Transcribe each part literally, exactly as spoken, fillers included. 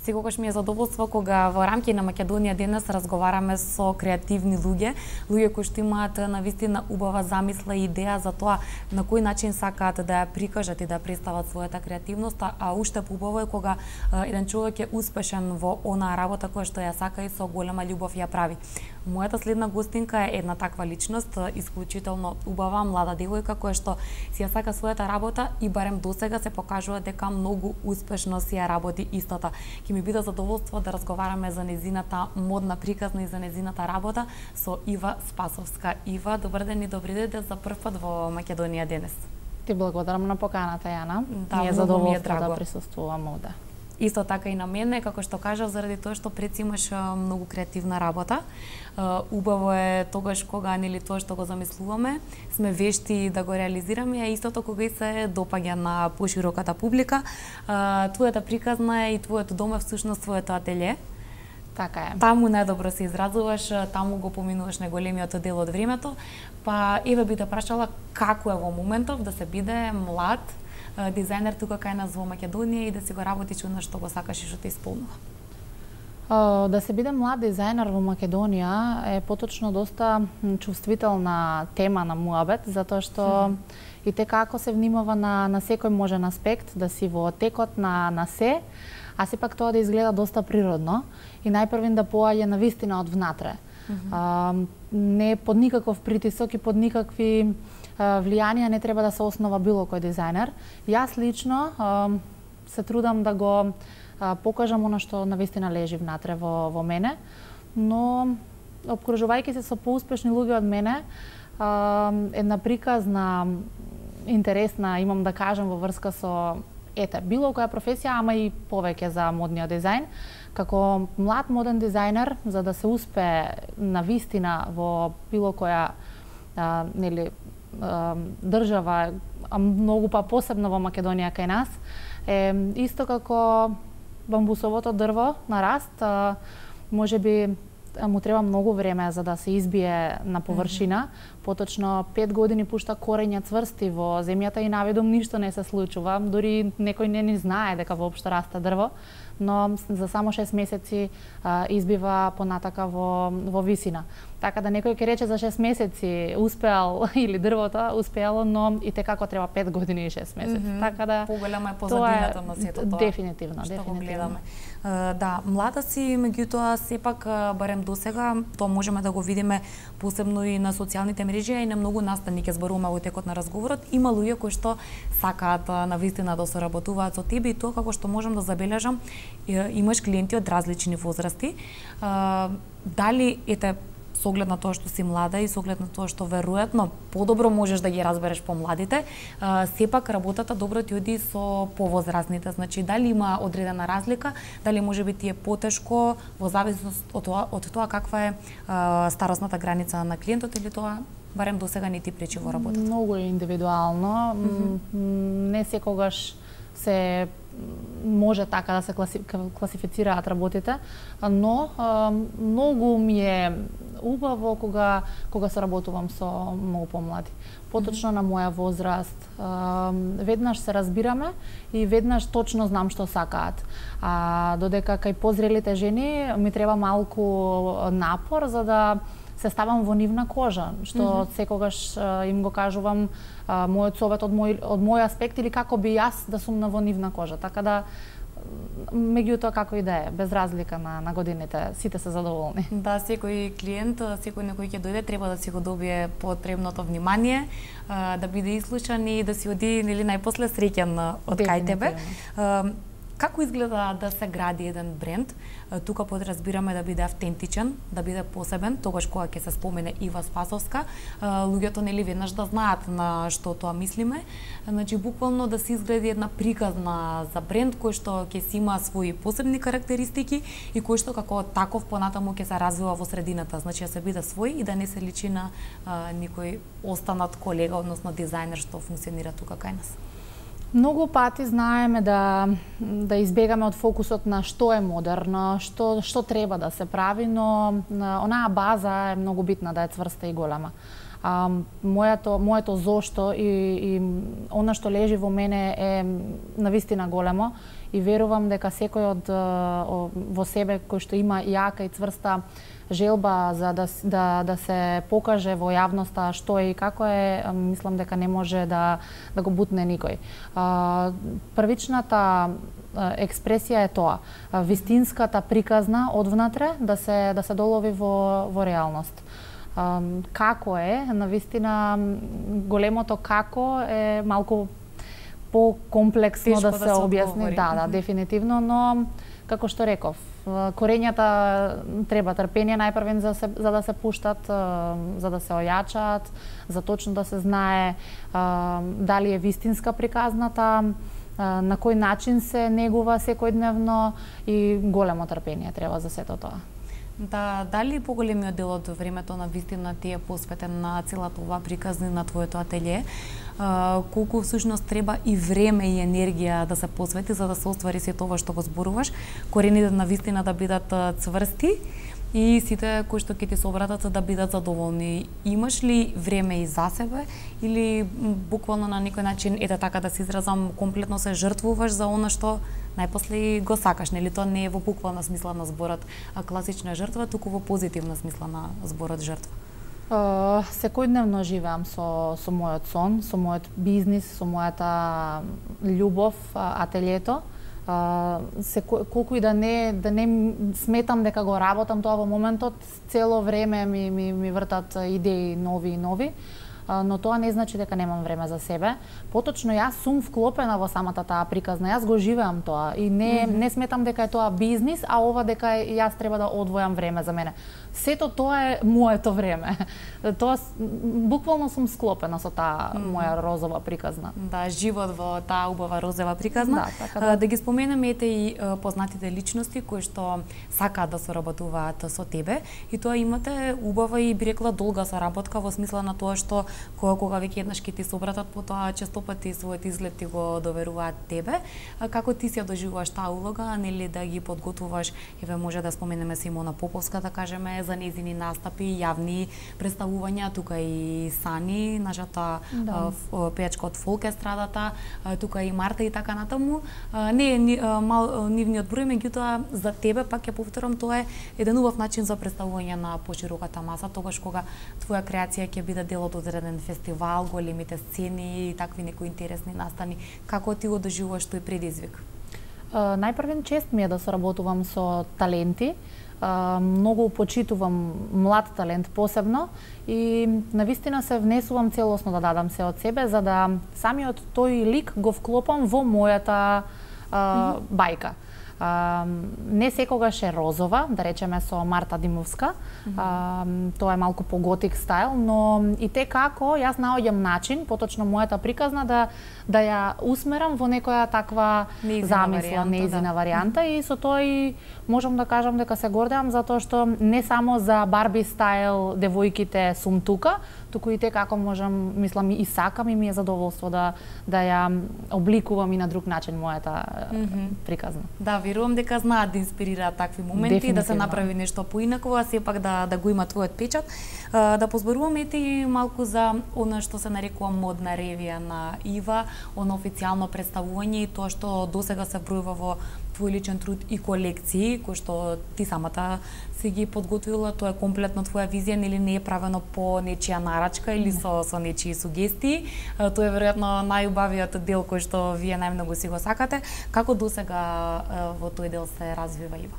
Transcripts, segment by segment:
Секогаш ми е задоволство кога во рамки на Македонија денес разговараме со креативни луѓе, луѓе кои што имаат навистина убава замисла и идеја за тоа на кој начин сакаат да ја прикажат и да представат својата креативност, а уште поубаво е кога еден човек е успешен во онаа работа која што ја сака и со голема љубов ја прави. Мојата следна гостинка е една таква личност, исклучително убава млада девојка која што си ја сака својата работа и барем досега се покажува дека многу успешно си ја работи истата. Ќе ми биде задоволство да разговараме за незината модна приказна и за незината работа со Ива Спасовска. Ива, добар ден и добри дојде за прв пат во Македонија денес. Ти благодарам на поканата, Јана. Да, ми е задоволство да присуствувам овде. Исто така и на мене, како што кажав, заради тоа што пред си имаш многу креативна работа. Убаво е тогаш кога нели тоа што го замислуваме, сме вешти да го реализираме, а истото кога и се допаѓа на пошироката публика. Твојата приказна е и твоето дом е всушност твоето ателје. Така е. Таму најдобро се изразуваш, таму го поминуваш најголемиот дел од времето. Па еве би те прашала како е во моментов да се биде млад дизајнер тука кај нас во Македонија и да си го работиш она што го сакаш и што те исполнува. Да се биде млад дизајнер во Македонија е поточно доста чувствителна тема на муабет, затоа што mm. и те како се внимава на, на секој можен аспект, да си во текот на, на се, а сепак тоа да изгледа доста природно и најпрвин да поаѓа на вистина од внатре. Mm -hmm. а, не под никаков притисок и под никакви а, влијанија не треба да се основа било кој дизајнер. Јас лично а, се трудам да го а, покажам она што навистина лежи внатре во, во мене, но обкружувајќи се со поуспешни луѓе од мене, а, една приказна, интересна, имам да кажам во врска со ете, било која професија, ама и повеќе за модниот дизајн. Како млад моден дизајнер, за да се успее на вистина во било која а, нели, а, држава, а многу па посебно во Македонија кај нас, е исто како бамбусовото дрво на раст, а, може би му треба многу време за да се избие на површина. Mm-hmm. Поточно пет години пушта корења цврсти во земјата и наведом ништо не се случува. Дури некој не ни знае дека воопшто расте дрво, но за само шест месеци а, избива понатака во, во висина. Така да некој ќе рече за шест месеци успеал или дрвото успеало, но и те како треба пет години и шест месеци. Mm-hmm. Така да поголема е позадината на сето тоа. Дефинитивно, што дефинитивно. Го гледаме. Uh, да, млада си, меѓутоа сепак барем досега тоа можеме да го видиме посебно и на социјалните мрежи и на многу настани ќе зборуваме во текот на разговорот. Има луѓе кои што сакаат навистина да соработуваат со тебе и тоа како што можам да забележам, имаш клиенти од различни возрасти. Uh, дали ете со оглед на тоа што си млада и со оглед на тоа што веројатно подобро можеш да ги разбереш помладите, сепак работата добро ти оди со повозрастните. Значи дали има одредена разлика, дали може би ти е потешко во зависност од тоа, од тоа каква е а, старосната граница на клиентот или тоа барем досега не ти пречи во работата? Многу е индивидуално. Mm-hmm. Не секогаш се може така да се класи, класифицираат работите, но а, многу ми е убаво кога кога се работувам со многу помлади. Поточно mm-hmm. на моја возраст, а, веднаш се разбираме и веднаш точно знам што сакаат. А додека кај позрелите жени ми треба малку напор за да се ставам во нивна кожа, што mm-hmm. секогаш а, им го кажувам а, мојот совет од мој од мој аспект или како би јас да сум на во нивна кожа. Така да меѓутоа како и да е, без разлика на, на годините, сите се задоволни. Да, секој клиент, секој некој ќе дојде, треба да си го добие потребното внимание, да биде ислушан и да си оди нели најпосле среќен од кај тебе. Како изгледа да се гради еден бренд? Тука подразбираме да биде автентичен, да биде посебен, тогаш кога ќе се спомене Ива Спасовска, луѓето нели веднаш да знаат на што тоа мислиме. Значи буквално да се изгради една приказна за бренд кој што ќе си има своји посебни карактеристики и кој што како таков понатаму ќе се развива во средината. Значи да се биде свој и да не се личи на а, никој останат колега, односно дизајнер што функционира тука кај нас. Многу пати знаеме да да избегаме од фокусот на што е модерно, што што треба да се прави, но онаа база е многу битна да е цврста и голема. А, моето моето зошто и и она што лежи во мене е навистина големо и верувам дека секој од во себе кој што има јака и цврста желба за да да да се покаже во јавноста што е и како е, мислам дека не може да да го бутне никој. А, првичната експресија е тоа, вистинската приказна одвнатре да се да се долови во во реалност. А, како е, навистина големото како е малку по-комплексно да се, да се објасни, да, да, дефинитивно, но како што реков, корењата треба трпение најпрвен за, се, за да се пуштат, за да се ојачаат, за точно да се знае дали е вистинска приказната, на кој начин се негува секојдневно и големо трпение треба за сето тоа. Да, дали поголемиот дел од времето на вистина ти е посветен на целата оваа приказна на твоето ателје? Uh, колку всушност треба и време и енергија да се посвети за да се оствари сето ова што го зборуваш, корените на вистина да бидат цврсти и сите кои што ќе ти се обратат да бидат задоволни. Имаш ли време и за себе или буквално на некој начин, ете така да се изразам, комплетно се жртвуваш за она што најпосле го сакаш, нели? Тоа не е во буквална смисла на зборот а класична жртва, туку во позитивна смисла на зборот жртва. Uh, секојдневно живеам со, со мојот сон, со мојот бизнис, со мојата љубов, ателјето. Uh, секо, колку и да не да не сметам дека го работам тоа во моментот, цело време ми, ми, ми вртат идеи нови и нови, uh, но тоа не значи дека немам време за себе. Поточно јас сум вклопена во самата таа приказна, јас го живеам тоа и не, mm -hmm. не сметам дека е тоа бизнис, а ова дека јас треба да одвојам време за мене. Сето тоа е моето време. Тоа буквално сум склопена со таа mm. моја розова приказна. Да, живот во таа убава розова приказна. Да, така да. Да ги споменеме ете и познатите личности кои што сакаат да соработуваат со тебе и тоа имате убава и би рекла долга соработка во смисла на тоа што кога, кога веќе еднаш ќе ти се обратат, потоа често пати својот изглед ти го доверуваат тебе. Како ти си ја доживуваш таа улога, нели да ги подготвуваш, еве може да споменеме Симона Поповска, да кажеме, за незини настапи, јавни представувања, тука и Сани, нашата да. пејачка од фолк естрадата, тука и Марта и така натаму. Не е ни, мал нивниот број, меѓутоа за тебе пак ќе повторам, тоа е еден убав начин за представување на пошироката маса, тогаш кога твоја креација ќе биде дел од одреден фестивал, големите сцени и такви некои интересни настани. Како ти го доживуваш тој предизвик? Uh, најпрвен чест ми е да соработувам со таленти. Uh, многу почитувам млад талент посебно и навистина се внесувам целосно да дадам се од себе за да самиот тој лик го вклопам во мојата uh, mm-hmm. бајка. Uh, не секогаш е розова, да речеме со Марта Димовска, mm-hmm. uh, тоа е малку по готик стайл, но и те како јас наоѓам начин, поточно мојата приказна да да ја усмерам во некоја таква неизина замисла, варијанта, неизина да. варијанта и со тој можам да кажам дека се гордеам затоа што не само за Барби стайл девојките сум тука, туку и те како можам, мислам и сакам и ми е задоволство да да ја обликувам и на друг начин мојата mm-hmm. приказна. Да, верувам дека знаат да инспирираат такви моменти, да се направи нешто поинаково, а сепак да да го има твојот печат. Да позборуваме и малку за она што се нарекува модна ревија на Ива, оно официјално представување и тоа што досега се бројува во твој личен труд и колекции, кои што ти самата си ги подготвила, тоа е комплетно твоја визија, нели не е правено по нечија нарачка или со со нечии сугестии. Тоа е веројатно најубавиот дел кој што вие најмногу си го сакате. Како досега во тој дел се развива Ива?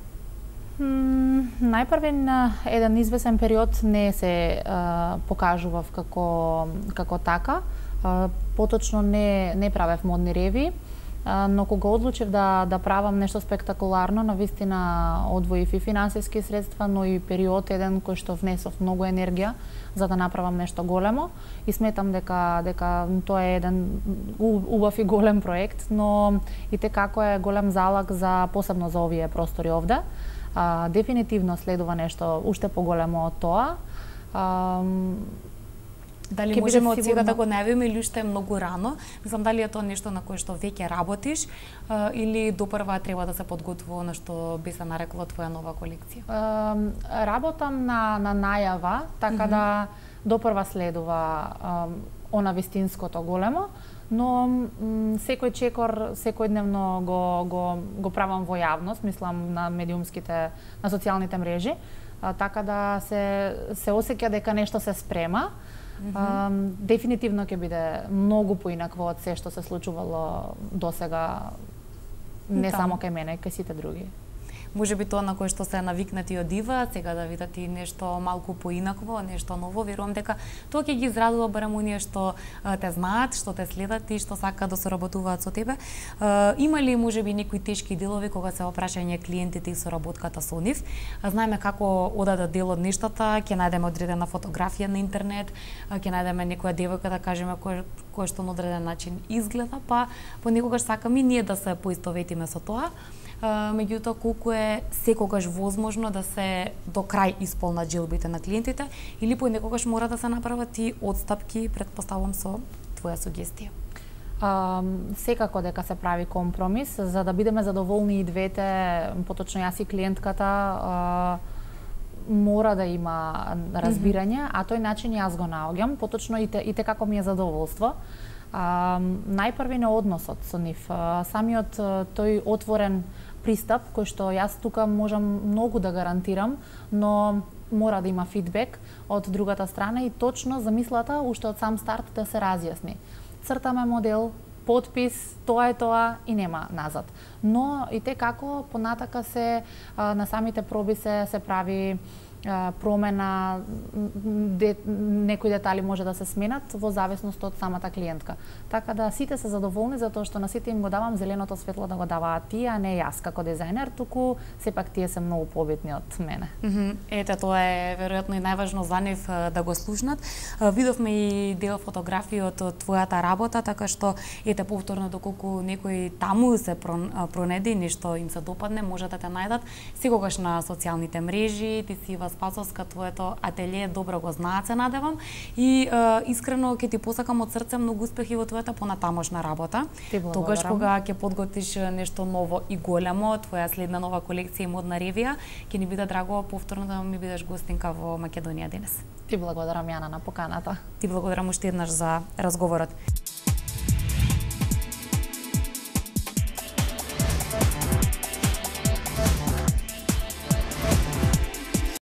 Mm, најпрвен еден извесен период не се uh, покажував како како така. Uh, поточно не не правев модни реви, uh, но кога одлучив да да правам нешто спектакуларно, навистина одвоив и финансиски средства, но и период еден кој што внесов многу енергија за да направам нешто големо и сметам дека дека тоа е еден убав и голем проект, но и те како е голем залог за посебно за овие простори овде. Uh, дефинитивно следува нешто уште поголемо од тоа. Uh, Дали можеме од сега да го најавиме или уште е многу рано? Мислам, дали е тоа нешто на кое што веќе работиш а, или допрва треба да се подготвува на што би се нарекла твоја нова колекција? А, работам на, на најава, така mm-hmm. да допрва следува она вистинското големо, но секој чекор секојдневно го го го правам во јавност, мислам на медиумските, на социјалните мрежи, а, така да се се осеќа дека нешто се спрема. Mm-hmm. А, дефинитивно ќе биде многу поинакво од се што се случувало досега, не само кај мене, кај сите други. Може би тоа на кој што се навикнати од дива, сега да видат и нешто малку поинакво, нешто ново, верувам дека тоа ќе ги израдува барем оние што а, те знаат, што те следат и што сакаат да соработуваат со тебе. А, има ли можеби некои тешки делови кога се опрашање клиентите и соработката со нив? А, знаеме како одадат дел од нештата, ќе најдеме одредена фотографија на интернет, а, ќе најдеме некоја девојка да кажеме кој кој што на одреден начин изгледа, па понекогаш сакаме и ние да се поистоветиме со тоа. Uh, меѓутоа колку е секогаш возможно да се до крај исполнат желбите на клиентите или понекогаш мора да се направат и одстапки, предпоставам со твоја сугестија? Uh, секако дека се прави компромис за да бидеме задоволни и двете, поточно јас и клиентката, uh, мора да има разбирање, mm-hmm. а тој начин јас го наоѓам, поточно и те, и те како ми е задоволство. Uh, најпрвен е односот со нив, uh, самиот uh, тој отворен пристап, кој што јас тука можам многу да гарантирам, но мора да има фидбек од другата страна и точно замислата уште од сам старт да се разјасни. Цртаме модел, подпис, тоа е тоа и нема назад. Но и те како понатака се а, на самите проби се се прави а, промена, де, некои детали може да се сменат во зависност од самата клиентка. Така да сите се задоволни затоа што на сите им го давам зеленото светло да го даваат тие, а не јас како дизајнер, туку сепак тие се многу побитни од мене. Mm -hmm. Ете, тоа е веројатно и најважно за нив да го слушнат. Видовме и дел фотографии од твојата работа, така што ете повторно доколку некој таму се пронеди, нешто им се допадне, може да те најдат секогаш на социјалните мрежи. Ти си Ива Спасовска, твоето ателие добро го знаат, се надевам, и е, искрено ќе ти посакам од срце многу успехи во твојата понатамошна работа. Тогаш кога ќе подготвиш нешто ново и големо, твоја следна нова колекција и модна ревија, ќе ни биде драго повторно да ми бидеш гостинка во Македонија денес. Ти благодарам, Јана, на поканата. Ти благодарам уште еднаш за разговорот.